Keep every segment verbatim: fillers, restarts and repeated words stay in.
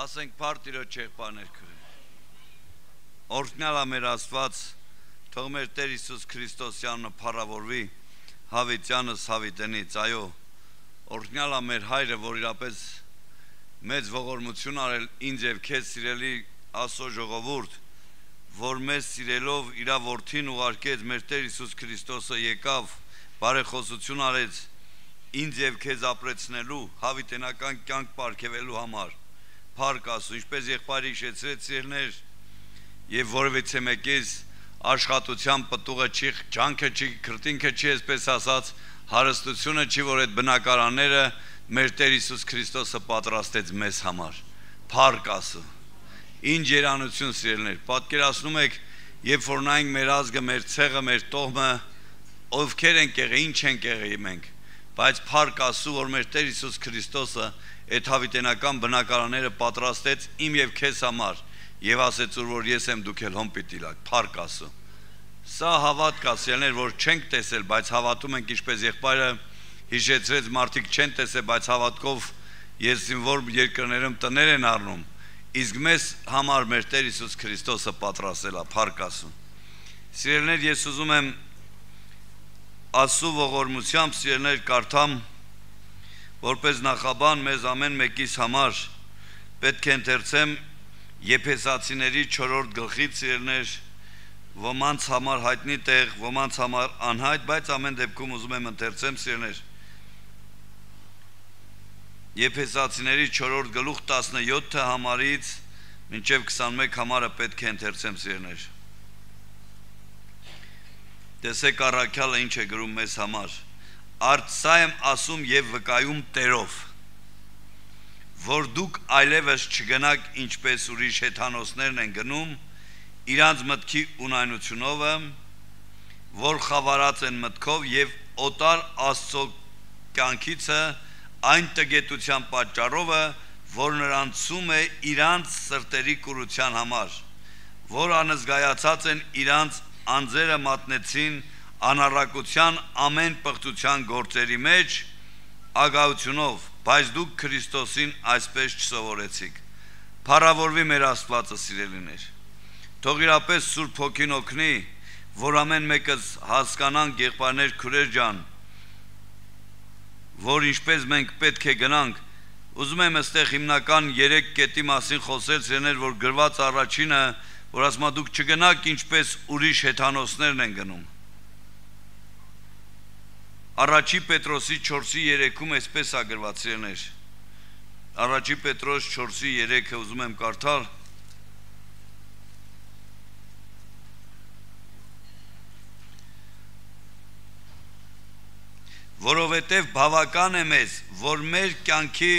Ասենք պարտիրո չեղբաներ կրել։ Օրհնյալ ամեր Աստված, թող մեր Տեր Հիսուս Քրիստոսյանը փառավորվի հավիտյանս հավիտենից, այո, օրհնյալ ամեր Հայրը, որ իրապես մեծ ողորմություն արել ինձ եւ քեզ սիրելի Աստծո ժողովուրդ, որ մեզ սիրելով իր որդին ուղարկեց, մեր Տեր Հիսուս Քրիստոսը եկավ, բարեխոսություն արեց ինձ եւ քեզ ապրեցնելու, հավիտենական կյանք պարգևելու համար։ Փառք Աստծո, ինչպես եղբայրը հիշեցրեց սիրելիներ, եւ որևիցե մեկից աշխատության պտուղը չի, ջանքը չի, քրտինքը չի, այսպես ասած, հարստությունը չի, որ այդ բնակարանները մեր Տեր Հիսուս Քրիստոսը պատրաստեց մեզ համար։ Փառք Աստծո։ Ինչ երանություն սիրելիներ, պատկերացնում եք, երբ որ նայենք մեր ազգը, մեր ցեղը, մեր տոհմը, ովքեր ենք եղել, ինչ ենք եղել մենք, բայց փառք Աստծո, որ մեր Տեր Հիսուս Քրիստոսը այդ հավիտենական բնակարանները պատրաստեց իմ եւ քեզ համար եւ ասեց որ ես եմ դուք էլ հոմ պիտի լաք, փառք Աստծո։ Սա հավատք է, սիրելիներ, որ չենք տեսել, բայց հավատում ենք, ինչպես եղբայրը հիշեցրեց, մարդիկ չեն տեսել, բայց հավատքով ես որ երկրներում տներ են առնում, իսկ մեզ համար մեր Տեր Հիսուս Քրիստոսը պատրաստել է, փառք Աստծո։ Սիրելիներ, ես ուզում եմ Աստծո ողորմությամբ սիրելիներ կարդամ, որպես նախաբան մեզ ամեն մեկիս համար պետք է ընթերցեմ Եփեսացիների չորրորդ գլխից սիրելիներ, ոմանց համար հայտնի տեղ, ոմանց համար անհայտ, բայց ամեն դեպքում ուզում եմ ընթերցեմ սիրելիներ Եփեսացիների չորրորդ գլուխ տասնյոթ համարից մինչև քսանմեկ համարը պետք է ընթերցեմ սիրելիներ։ Տեսեք առաքյալը ինչ է գրում մեզ համար։ Արդ սա եմ ասում եւ վկայում Տերով, որ դուք այլևս չգնաք ինչպես ուրիշ հեթանոսներն են գնում, իրանց մտքի ունայնությունով, որ խավարած են մտքով եւ օտար Աստծո կյանքիցը այն տգետության պատճառով, որ նրանցում է իրանց սրտերի կուրության համար, որ անզգայացած են իրանց անձերը մատնեցին անառակության ամեն պղծության գործերի մեջ ագահությունով, բայց դուք Քրիստոսին այսպես չսովորեցիք։ Փառավորվի մեր Աստվածը, սիրելիներ։ Թող իրապես Սուրբ Հոգին օգնի, որ ամեն մեկս հասկանանք, եղբայրներ, քուրեր ջան, որ ինչպես մենք պետք է գնանք, ուզում եմ այստեղ հիմնական երեք կետի մասին խոսել, սիրելիներ, որ գրված առաջինը, որ ասում է դուք չգնաք ինչպես ուրիշ հեթանոսներն են գնում։ Առաջի Պետրոսի չորսի երեքում այսպես է գրված, սիրելիներ։ Առաջի Պետրոս չորսի երեքը ուզում եմ կարդալ։ Որովհետև բավական է մեզ, որ մեր կյանքի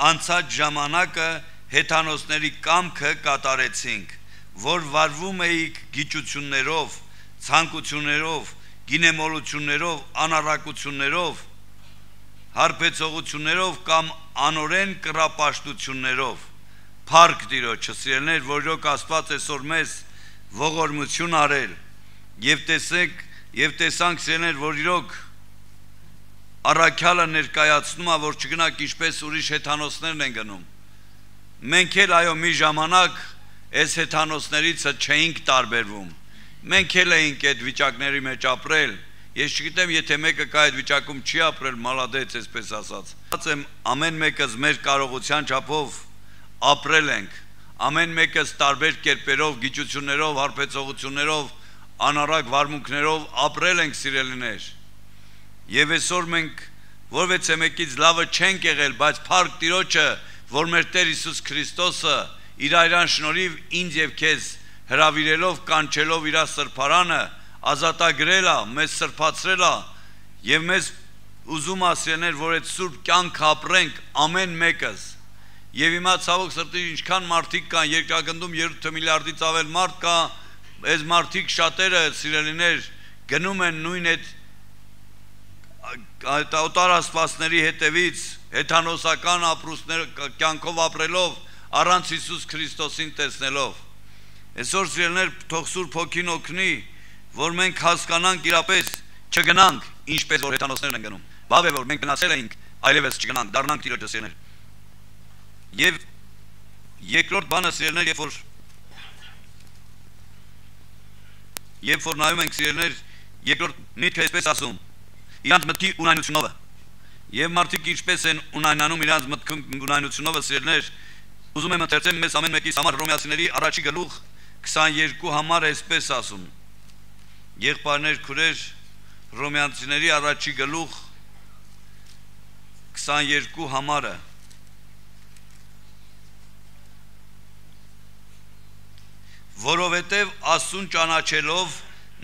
անցած ժամանակը հեթանոսների կամքը կատարեցինք, որ վարվում էիք գիճություններով, ցանկություններով, գինեմոլություններով, անառակություններով, հարբեցողություններով կամ անօրեն կռապաշտություններով։ Փառք Տիրոջը, սիրելիներ, որ իրոք Աստված այսօր մեզ ողորմություն արել եւ տեսեք եւ տեսանք սիրելիներ, որ իրոք առաքյալը ներկայացնում է, որ չգնաք ինչպես ուրիշ հեթանոսներն են գնում։ Մենք էլ այո մի ժամանակ այս հեթանոսներից չէինք տարբերվում։ Մենք էլ էինք այդ վիճակների մեջ ապրել։ Ես չգիտեմ, եթե մեկը կա այդ վիճակում չի ապրել, մալադեց, այսպես ասած։ Ասեմ, ամեն մեկս մեր կարողության չափով ապրել ենք։ Ամեն մեկս տարբեր կերպերով, գիճություններով, հարբեցողություններով, անառակ վարմունքներով ապրել ենք, սիրելիներ։ Եվ այսօր մենք որևէ մեկից լավը չենք եղել, բայց փառք Տիրոջը, որ մեր Տեր Հիսուս Քրիստոսը իր այրան շնորհիվ ինձ եւ քեզ հրավիրելով, կանչելով իր սրբարանը, ազատագրել է, մեզ սրբացրել է եւ մեզ ուզում ասեներ, որ այդ սուրբ կյանքը ապրենք ամեն մեկս։ Եվ հիմա ցավոք սրտի ինչքան մարդիկ կան, երկրագնդում երեք միլիարդից ավել մարդ կա, այս մարդիկ շատերը սիրելիներ գնում են նույն այդ օտար աստվածների հետևից, հեթանոսական ապրուստներ կյանքով ապրելով, առանց Հիսուս Քրիստոսին տեսնելով։ Այսօր սիրելիներ, թող Սուրբ Հոգին օգնի, որ մենք հասկանանք իրապես չգնանք ինչպես որ հեթանոսներն են գնում։ Բավ է որ մենք գնացել էինք, այլևս չգնանք, դառնանք Տիրոջը սիրելիներ։ Եվ Երկրորդ բանը սիրելիներ, երբ որ երբ որ նայում ենք սիրելիներ, երկրորդ միտքը այսպես ասում, իրանց մտքի ունայնությունով եւ մարդիկ ինչպես են ունայնանում իրանց մտքի ունայնությունով սիրելիներ, ուզում եմ ընթերցեմ մեզ ամեն մեկիս համար Հռոմեացիների առաջի գլուխ քսաներկու համար այսպես ասում։ Եղբայրներ, քուրեր, Հռոմեացիների առաջի գլուխ քսաներկու համարը որովհետև Աստծուն ճանաչելով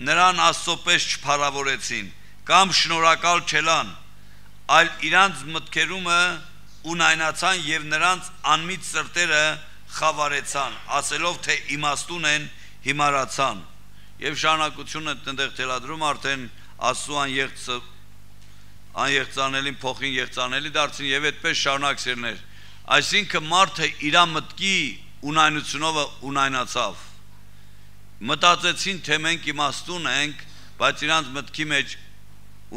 նրան Աստծո պես չփառավորեցին կամ շնորհակալ չելան, այլ իրանց մտքերումը ունայնացան եւ նրանց անմիտ սրտերը խավարեցան, ասելով թե իմաստուն են, հիմարացան։ Եվ շարունակությունը այդտեղ թելադրում արդեն Աստծու անեղծը անեղծանելին փոխին եղծանելի դարձին եւ այդպես շարունակսերներ։ Այսինքն մարդը իր մտքի ունայնությունով ունայնացավ։ Մտածեցին թե մենք իմաստուն ենք, բայց իրանց մտքի մեջ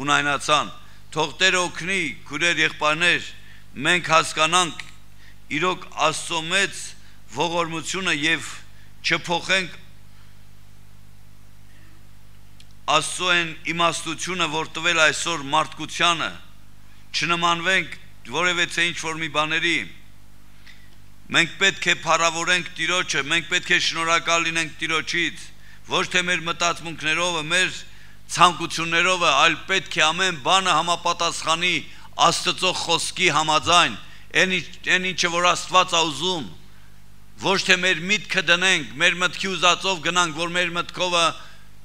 ունայնացան։ Թող Տերը օգնի, քուրեր, եղբայրներ, մենք հասկանանք իրոք Աստծո մեծ ողորմությունը եւ չփոխենք Աստծո են իմաստությունը, որ տվել այսօր մարդկությանը, չնմանվենք որևէ ինչ-որ մի բաների։ Մենք պետք է փառավորենք Տիրոջը, մենք պետք է շնորհակալ լինենք Տիրոջից, ոչ թե մեր մտածմունքներով, մեր ցանկություններով, այլ պետք է ամեն բանը համապատասխանի Աստծո խոսքի համաձայն, այն ինչը որ Աստված է ուզում, ոչ թե մեր միտքը դնենք, մեր մտքի ուզածով գնանք, որ մեր մտքովը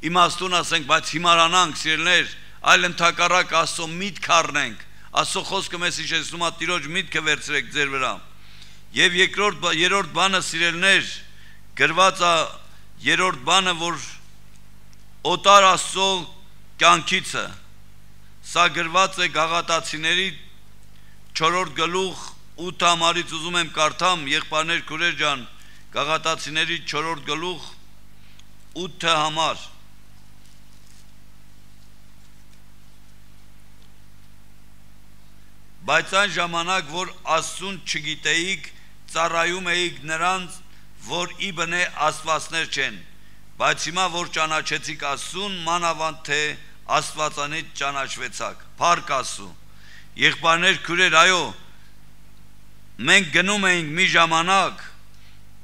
իմաստուն ասենք, բայց հիմարանանք, սիրելիներ, այլ ընդհակառակ Աստծո միտք առնենք, Աստծո խոսքը մեզ հիշեցնում է Տիրոջ միտքը վերցրեք ձեր վրա։ Եվ երկրորդ երրորդ բանը սիրելիներ, գրված է երրորդ բանը, որ օտար Աստծո կյանքիցը, սա գրված է Գաղատացիների չորրորդ գլուխ ութ համարից ուզում եմ կարդամ, եղբայրներ, քուրեր ջան, Գաղատացիների չորրորդ գլուխ ութ համար։ Բայց այն ժամանակ, որ Աստծուն չգիտեիք, ծառայում էիք նրանց, որ ի բնե աստվածներ չեն, բայց հիմա, որ ճանաչեցիք Աստծուն, մանավանդ թե Աստվածանից ճանաչվեցաք, փառք Աստծու։ Եղբայրներ, քուրեր, այո, մենք գնում էինք մի ժամանակ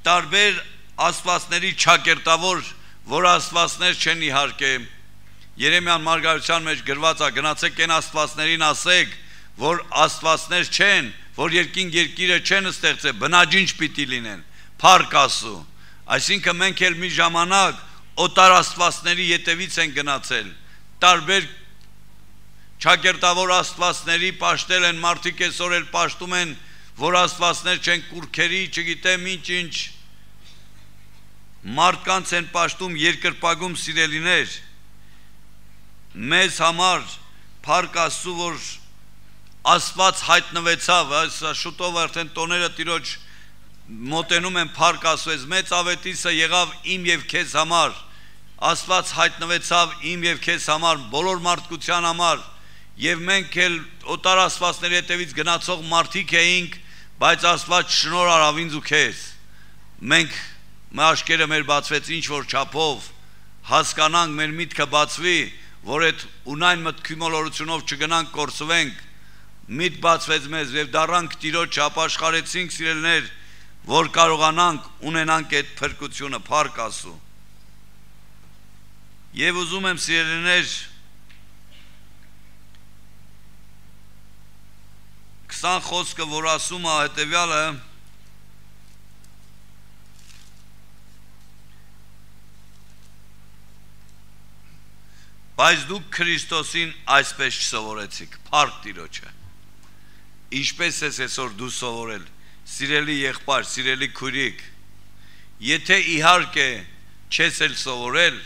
տարբեր աստվածների ճակերտավոր, որ աստվածներ չեն իհարկե, Երեմիան մարգարեության մեջ գրված է, գնացեք այն աստվածներին ասեք, որ աստվածներ չեն, որ երկին երկիրը չեն ստեղծել, բնաջինջ պիտի լինեն, փառք Աստծու։ Այսինքն մենք էլ մի ժամանակ օտար աստվածների ետևից են գնացել, տարբեր ճակերտավոր աստվածների պաշտել են, մարդիկ այսօր էլ պաշտում են, որ աստվածներ չեն, կուրքերի, չգիտեմ ինչ-ինչ, մարդկանց են պաշտում, երկրպագում սիրելիներ, մեզ համար փառք Աստծու, որ Աստված հայտնվեցավ, շուտով արդեն տոները Տիրոջ մոտենում են, փառք Աստծու, մեծ ավետիսը եղավ իմ եւ քեզ համար, Աստված հայտնվեցավ իմ եւ քեզ համար, բոլոր մարդկության համար, եւ մենք էլ օտար աստվածների հետևից գնացող մարդիկ էինք, բայց Աստված շնորհ արավ ինձ ու քեզ։ Մենք մեր աչքերը մեր բացվեց ինչ որ չափով, հասկանանք, մեր միտքը բացվի, որ այդ ունայն մտքի մոլորությունով չգնանք կորսվենք, միտ բացվեց մեզ եւ դառանք Տիրոջ ապաշխարեցինք, սիրելիներ, որ կարողանանք ունենանք այդ փրկությունը, փառք Աստծու։ Եվ ուզում եմ, սիրելիներ, քսան խոսքը, որ ասում է հետևյալը, բայց դուք Քրիստոսին այսպես չսովորեցիք, փառք Տիրոջը։ Ինչպես ես այսօր դու սովորել, սիրելի եղբայր, սիրելի քույրիկ, եթե իհարկե չես էլ սովորել,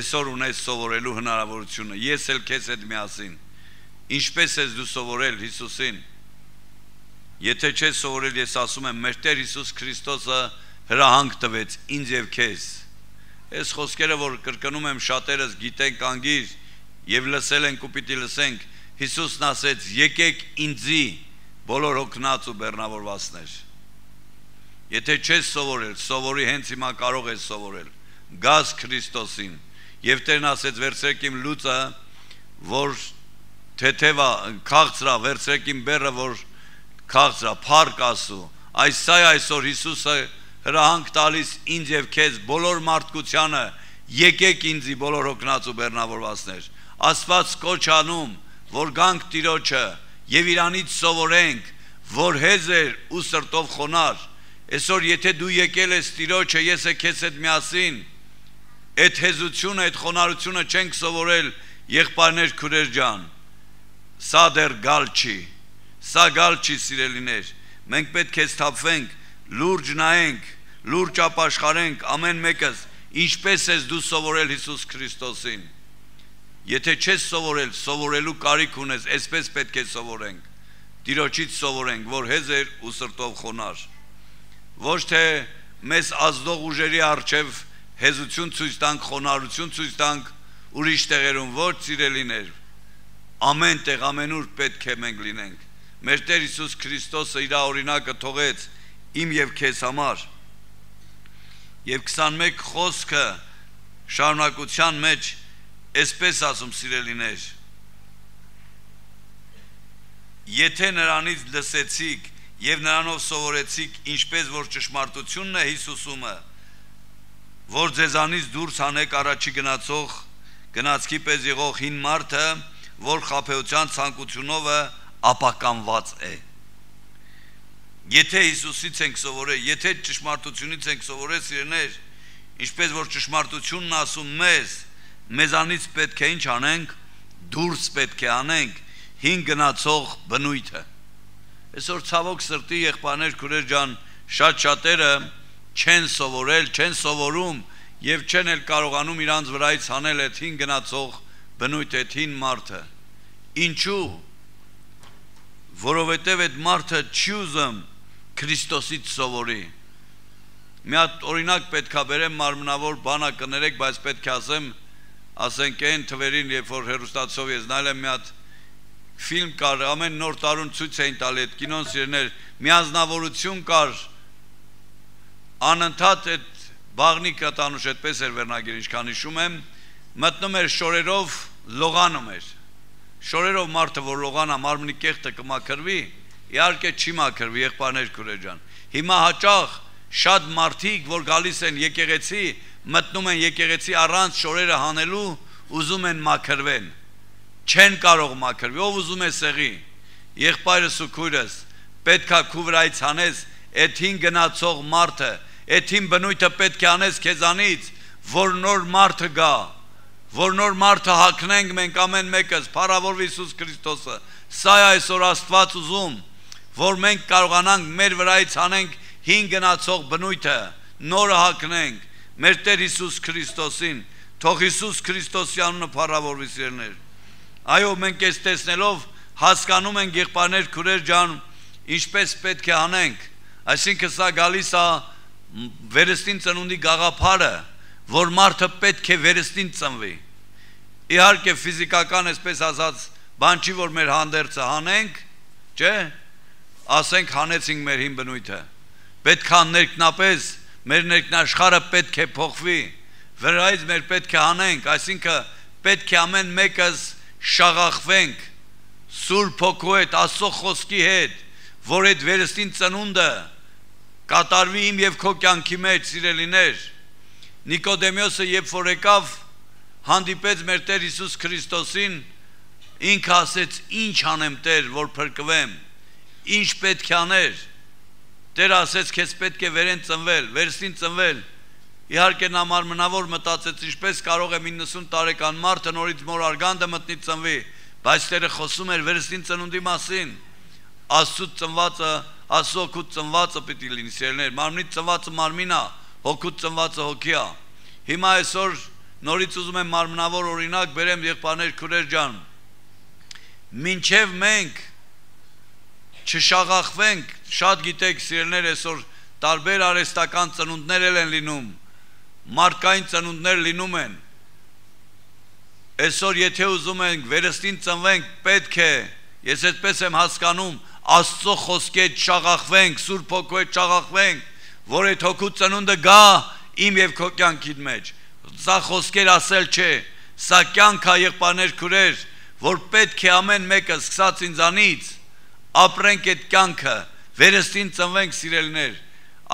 այսօր ունես սովորելու հնարավորությունը, ես էլ քեզ հետ միասին, ինչպես ես դու սովորել Հիսուսին, եթե չես սովորել, ես ասում եմ, մեր Տեր Հիսուս Քրիստոսը հրահանգ տվեց ինձ եւ քեզ։ Այս խոսքերը, որ կրկնում եմ, շատերս գիտենք անգիր եւ լսել ենք ու պիտի լսենք, Հիսուսն ասեց, եկեք ինձի բոլոր հոգնած ու բեռնավորվածներ։ Եթե չես սովորել, սովորի հենց հիմա կարող ես սովորել։ Գազ Քրիստոսին։ Եվ Տերն ասեց վերցրեք իմ լուծը, որ թեթևա քաղցրա, վերցրեք իմ բեռը, որ քաղցրա, փառք Աստծու։ Այս սա այսօր Հիսուսը հրահանգ տալիս ինձ եւ քեզ բոլոր մարդկությանը, եկեք ինձի բոլոր հոգնած ու բեռնավորվածներ։ Աստված կոչ անում, որ գանք Տիրոջը եւ իրանից սովորենք, որ հեզեր ու սրտով խոնար։ Այսօր եթե դու եկել ես Տիրոջը, ես է քեզ հետ միասին, այդ հեզությունը, այդ խոնարհությունը չենք սովորել, եղբայրներ, քուրեր ջան։ Սա դեռ գալ չի, սա գալ չի, սիրելիներ։ Մենք պետք է սթափվենք, լուրջ նայենք, լուրջ ապաշխարենք ամեն մեկս, ինչպես ես դու սովորել Հիսուս Քրիստոսին։ Եթե չես սովորել, սովորելու կարիք ունես, այսպես պետք է սովորենք։ Տիրոջից սովորենք, որ հեզեր ու սրտով խոնար։ Ոչ թե մեզ ազդող ուժերի առջև հեզություն ցույց տանք, խոնարհություն ցույց տանք ուրիշ տեղերում, ոչ սիրելիներ։ Ամեն տեղ, ամենուր պետք է մենք լինենք։ Մեր Տեր Հիսուս Քրիստոսը իր օրինակը թողեց իմ եւ քեզ համար։ Եվ քսանմեկ խոսքը շարունակության մեջ այսպես ասում, սիրելիներ. Եթե նրանից լսեցիք եւ նրանով սովորեցիք, ինչպես որ ճշմարտությունն է Հիսուսումը, որ ձեզանից դուրս հանեք առաջի գնացող, գնացքի պես եղող հին մարդը, որ խաբեության ցանկությունով ապականված է։ Եթե Հիսուսից ենք սովորել, եթե ճշմարտությունից ենք սովորել, սիրելիներ, ինչպես որ ճշմարտությունն ասում մեզ, մեզանից պետք է ինչ անենք, դուրս պետք է անենք հին գնացող բնույթը։ Այսօր ցավոք սրտի եղբայրներ, քուրեր ջան, շատ շատերը չեն սովորել, չեն սովորում եւ չեն էլ կարողանում իրանց վրայից հանել այդ հին գնացող բնույթը, այդ հին մարդը։ Ինչու՞։ Որովհետև այդ մարդը չի ուզում Քրիստոսից սովորի։ Մի հատ օրինակ պետք է բերեմ, մարմնավոր բանա կներեք, բայց պետք է ասեմ, ասենք այն թվերին, երբ որ հեռուստացով ես նայել եմ, մի հատ ֆիլմ կար, ամեն նոր տարուն ցույց էին տալի այդ կինոն, սիրելիներ, մի անձնավորություն կար, անընդհատ այդ բաղնիկը տանուշ այդպես էր վերնագիր, ինչքան հիշում եմ, մտնում էր շորերով, լողանում էր։ Շորերով մարդը, որ լողանա, մարմնի կեղտը կմաքրվի, իհարկե չի մաքրվի, եղբայրներ, քուրեր ջան։ Հիմա հաճախ շատ մարդիկ, որ գալիս են եկեղեցի, մտնում են եկեղեցի առանց շորերը հանելու, ուզում են մաքրվեն։ Չեն կարող մաքրվի, ով ուզում է սեղի։ Եղբայրս ու քույրս, պետքա քու վրայից հանես այդ հին գնացող մարդը, այդ հին բնույթը պետք է անես քեզանից, որ նոր մարդը գա, որ նոր մարդը հագնենք մենք ամեն մեկս, փառավորվի Հիսուս Քրիստոսը։ Սա է այսօր Աստված ուզում, որ մենք կարողանանք մեր վրայից հանենք հին գնացող բնույթը, նորը հագնենք մեր Տեր Հիսուս Քրիստոսին, թող Հիսուս Քրիստոսի անունը փառավորվի, սիրելիներ։ Այո, մենք այս տեսնելով հասկանում ենք, եղբայրներ, քուրեր ջան, ինչպես պետք է անենք, այսինքն սա գալիս է վերստին ծնունդի գաղափարը, որ մարդը պետք է վերստին ծնվի։ Իհարկե ֆիզիկական, այսպես ասած, բան չի, որ մեր հանդերձը հանենք, չէ, ասենք հանեցինք մեր հին բնույթը, պետք է ներքնապես մեր ներքնաշխարհը պետք է փոխվի, վրայից մեր պետք է հանենք, այսինքն պետք է ամեն մեկս շաղախվենք Սուրբ Հոգու հետ, Աստծո խոսքի հետ, որ այդ վերստին ծնունդը կատարվի իմ եւ քո կյանքի մեջ, սիրելիներ։ Նիկոդեմոսը երբ որ եկավ, հանդիպեց մեր Տեր Հիսուս Քրիստոսին, ինքը ասեց. «Ինչ անեմ, Տեր, որ փրկվեմ, ինչ պետք է աներ»։ Տերը ասեց. «Քեզ պետք է վերեն ծնվել, վերստին ծնվել»։ Իհարկե նա մարմնավոր մտածեց, ինչպես կարող է իննսուն տարեկան մարդը նորից մոր արգանդը մտնի ծնվի, բայց Տերը խոսում էր վերստին ծնունդի մասին։ Աստծուց ծնվածը, Աստծո հոգուց ծնվածը պիտի լինի, սիրելիներ, մարմնից ծնվածը մարմին է, հոգուց ծնվածը հոգի է։ Հիմա այսօր նորից ուզում եմ մարմնավոր օրինակ բերեմ, եղբայրներ, քուրեր ջան։ Մինչև մենք չշաղախվենք, շատ գիտեք, սիրելիներ, այսօր տարբեր արհեստական ծնունդներ են լինում, մարդկային ծնունդներ լինում են։ Այսօր եթե ուզում ենք վերստին ծնվենք, պետք է, ես այդպես եմ հասկանում, Աստծո խոսքի հետ շաղախվենք, Սուրբ Հոգու հետ շաղախվենք, որ այդ հոգու ծնունդը գա իմ եւ քո կյանքիդ մեջ։ Սա խոսքեր ասել չէ, սա կյանք է եղբայրներ քուրեր, որ պետք է ամեն մեկը սկսած ինձանից ապրենք այդ կյանքը, վերստին ծնվենք սիրելիներ։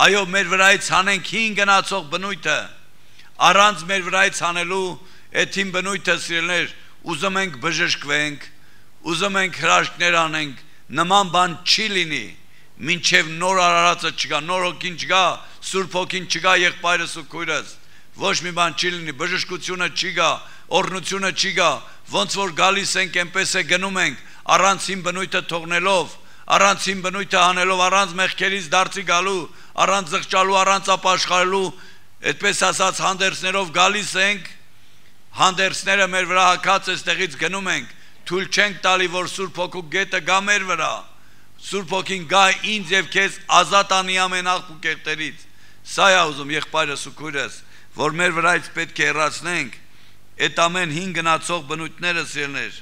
Այո, մեր վրայից հանենք հին գնացող բնույթը, առանց մեր վրայից հանելու այդ հին բնույթը սիրելիներ, ուզում ենք բժշկվենք, ուզում ենք հրաշքներ անենք, նման բան չի լինի, մինչև նոր արարածը չգա, նոր հոգին չգա, սուրբ հոգին չգա եղբայրս ու քույրս, ոչ մի բան չի լինի, բժշկությունը չի գա, օրհնությունը չի գա, ոնց որ գալիս ենք, այնպես է գնում ենք, առանց հին բնույթը թողնելով, առանց հին բնույթը հանելով, առանց մեղքերից դարձի գալու, առանց զղջալու, առանց ապաշխարելու, այդպես ասած հանդերձներով գալիս ենք, հանդերձները մեր վրա հագած այստեղից գնում ենք, թույլ չենք տալի, որ Սուրբ Հոգու գետը գա մեր վրա, Սուրբ Հոգին գա ինձ եւ քեզ ազատ անի ամեն աղբ ու կեղտերից։ Սա է ուզում եղբայրս ու քույրս, որ մեր վրայից պետք է հեռացնենք այդ ամեն հին գնացող բնույթները սիրներ։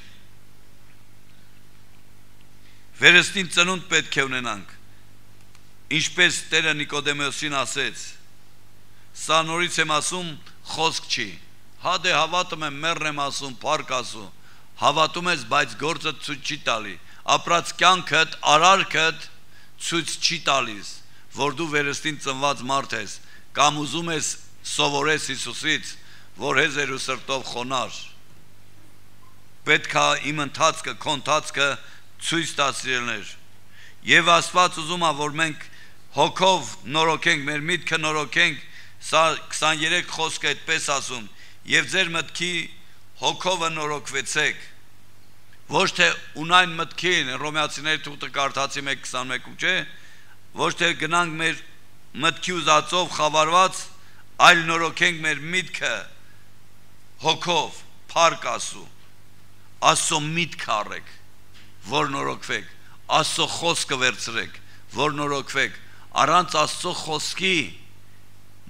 Վերստին ծնունդ պետք է ունենանք, ինչպես Տերը Նիկոդեմոսին ասեց, սա նորից եմ ասում, խոսք չի, հա դե հավատում եմ, մեռն եմ ասում, փառք ասում, հավատում ես, բայց գործը ցույց չի տալի, ապրած կյանքդ, արարքդ ցույց չի տալիս, որ դու վերստին ծնված մարդ ես, կամ ուզում ես սովորես Հիսուսից, որ հեզեր ու սրտով խոնար։ Պետք է իմ ընթացքը, քո ընթացքը ցույց տա սիրելիներ։ Եվ Աստված ուզում է, որ մենք հոգով նորոգենք, մեր միտքը նորոգենք, սա քսաներեք խոսքը այդպես ասում, եւ ձեր մտքի հոգովը նորոգվեցեք, ոչ թե ունայն մտքին, Հռոմեացիների թուղթը կարդացի մեկ քսանմեկում, չէ, ոչ թե գնանք մեր մտքի ուզածով խավարված, այլ նորոգենք մեր միտքը հոգով, փառք Աստծո, Աստծո միտքը առեք, որ նորոգվեք, Աստծո խոսքը վերցրեք, որ նորոգվեք, առանց Աստծո խոսքի,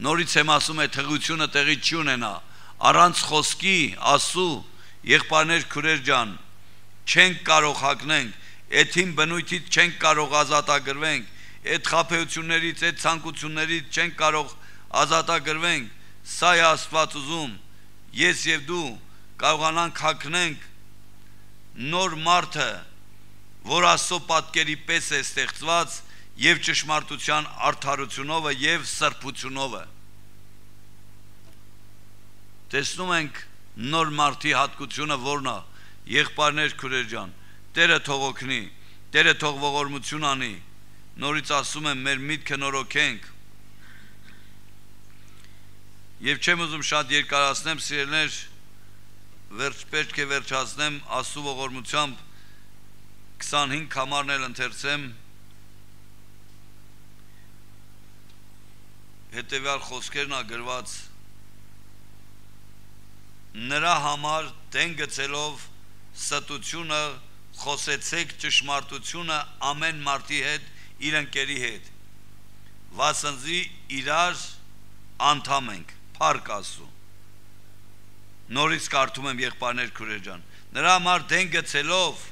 նորից եմ ասում է թղությունը տեղի չի ունենա, առանց խոսքի Աստծո եղբայրներ քուրեր ջան, չենք կարող հագնենք, այդ հին բնույթից չենք կարող ազատագրվենք, այդ խաբեություններից, այդ ցանկություններից չենք կարող ազատագրվենք, սա է Աստված ուզում, ես եւ դու կարողանանք հագնենք նոր մարդը, որ Աստծո պատկերի պես է ստեղծված եւ ճշմարտության արդարությունով եւ սրբությունով։ Տեսնում ենք նոր մարդի հատկությունը որն է, եղբայրներ քուրեր ջան, Տերը թող օգնի, Տերը թող ողորմություն անի, նորից ասում եմ մեր միտքը նորոգենք։ Եվ չեմ ուզում շատ երկարացնեմ սիրելիներ, վերջ պետք է վերջացնեմ Աստծո ողորմությամբ քսանհինգ համարն էլ ընթերցեմ, հետևյալ խոսքերն ա գրված, նրա համար դեն գցելով ստությունը խոսեցեք ճշմարտությունը ամեն մարդի հետ, իր ընկերի հետ, վասնզի իրար անդամ ենք, փառք Աստծո։ Նորից կարդում եմ եղբայրներ քուրեր ջան, նրա համար դեն գցելով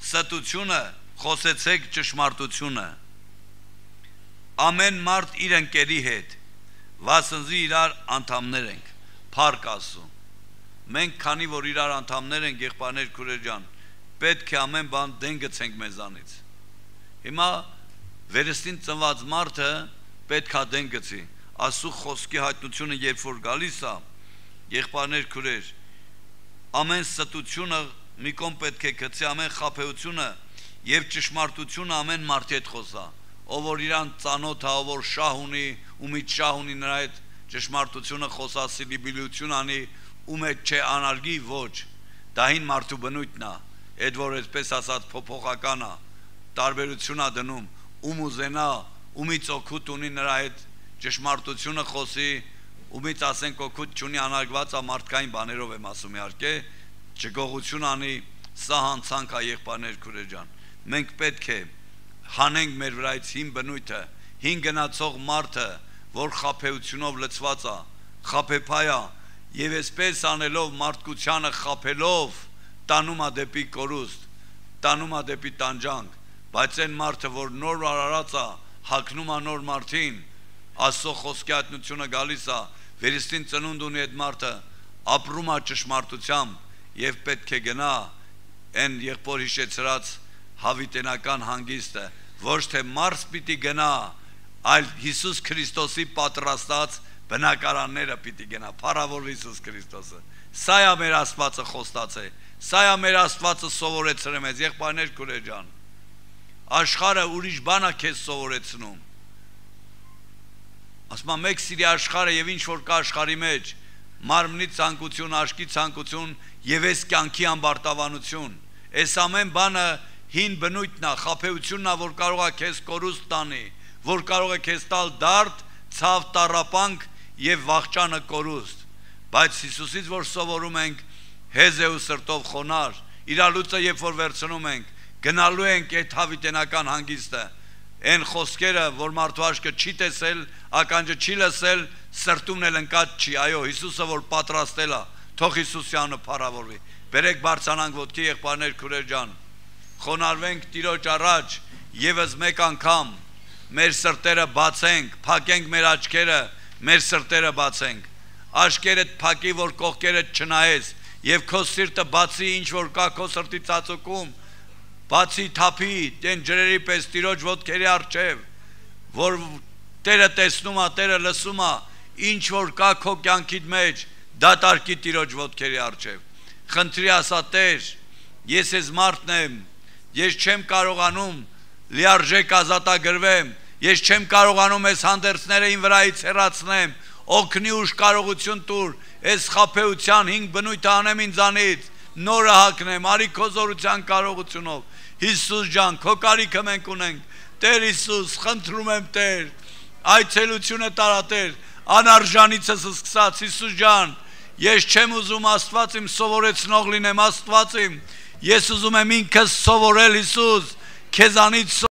ստությունը խոսեցեք ճշմարտությունը ամեն մարդ իր ընկերի հետ, վասնզի իրար անդամներ ենք, փառք Աստծո։ Մենք քանի որ իրար անդամներ ենք եղբայրներ քուրեր ջան, պետք է ամեն բան դեն գցենք մեզանից։ Հիմա վերստին ծնված մարդը պետք է դեն գցի։ Աստծո խոսքի հայտնությունը երբ որ գալիս է, եղբայրներ քուրեր, ամեն ստությունը մի կողմ պետք է գցի, ամեն խաբեությունը եւ ճշմարտությունը ամեն մարդի հետ խոսա, ով որ իրան ծանոթ է, ով որ շահ ունի, ումից շահ ունի, նրա հետ ճշմարտությունը խոսասիրի, բիլություն անի, ում հետ չէ անարգի, ոչ, դա հին մարդու բնույթն է, այդ որ այսպես ասած փոփոխական է, տարբերություն է դնում, ում ուզենա, ումից օգուտ ունի նրա հետ ճշմարտությունը խոսի, ումից ասենք օգուտ չունի, անարգված է մարդկային բաներով եմ ասում իհարկե, չգողություն անի, սա հանցանք է եղբայրներ քուրեր ջան։ Մենք պետք է հանենք մեր վրայից հին բնույթը, հին գնացող մարդը, որ խաբեությունով լցված է, խաբեփայ է, եւ այսպես անելով մարդկությանը խաբելով տանում է դեպի կորուստ, տանում է դեպի տանջանք, բայց այն մարդը, որ նոր արարած է, հագնում է նոր մարդին, Աստծո խոսքի հայտնությունը գալիս է, վերստին ծնունդ ունի այդ մարդը, ապրում է ճշմարտությամբ եւ պետք է գնա այն եղբոր հիշեցրած հավիտենական հանգիստը, ոչ թե Մարս պիտի գնա, այլ Հիսուս Քրիստոսի պատրաստած բնակարանները պիտի գնա, փառավոր Հիսուս Քրիստոսը։ Սա է մեր Աստվածը խոստացե, սա է մեր Աստվածը սովորեցրել մեզ, եղբայրներ քուրեր ջան։ Աշխարհը ուրիշ բան է քեզ սովորեցնում։ Ասում եմ մեկ սիրի աշխարհը եւ ինչ որ կա աշխարհի մեջ, մարմնի ցանկություն, աշկի ցանկություն եւ այս կյանքի ամբարտավանություն, այս ամեն բանը հին բնույթն է, խաբեությունն է, որ կարող է քեզ կորուստ տանի, որ կարող է քեզ տալ դարդ, ցավ, տառապանք եւ վախճանը կորուստ, բայց Հիսուսից որ սովորում ենք հեզ ու սրտով խոնար, իրալուծը երբ որ վերցնում ենք, գնալու ենք այդ հավիտենական հանգիստը, այն խոսքերը, որ մարդու աչքը չի տեսել, ականջը չի լսել, սրտումն էլ ընկած չի, այո, Հիսուսը որ պատրաստել է, թող Հիսուսյանը փառավորվի։ Բերեք բարձրանանք ոտքի եղբայրներ քուրեր ջան, խոնարհվենք Տիրոջ առաջ, եւս մեկ անգամ մեր սրտերը բացենք, փակենք մեր աչքերը, մեր սրտերը բացենք, աչքերդ փակի, որ կողքերդ չնայես, եւ քո սիրտը բացի, ինչ որ կա քո սրտի ծածուկում, բացի թափի, տեն ջրերի պես Տիրոջ ոտքերի առջև, որ Տերը տեսնում է, Տերը լսում է, ինչ որ կա քո կյանքիդ մեջ, դատարկի Տիրոջ ոտքերի առջև։ Խնդրի ասա Տեր, ես ես մարդն եմ, ես չեմ կարողանում լիարժեք ազատագրվեմ, ես չեմ կարողանում այս հանդերձները իմ վրայից հեռացնեմ, օգնի ուժ կարողություն տուր, այս խաբեության հինգ բնույթը անեմ ինձանից, նորը հագնեմ, արի քո զորության կարողությունով։ Հիսուս ջան, քո կարիքը մենք ունենք, Տեր Հիսուս, խնդրում եմ Տեր, այցելությունը տարա Տեր, անարժանիցս սկսած, Հիսուս ջան, ես չեմ ուզում Աստված իմ սովորեցնող լինեմ, Աստված իմ, ես ուզում եմ ինքս սովորել Հիսուս, քեզանից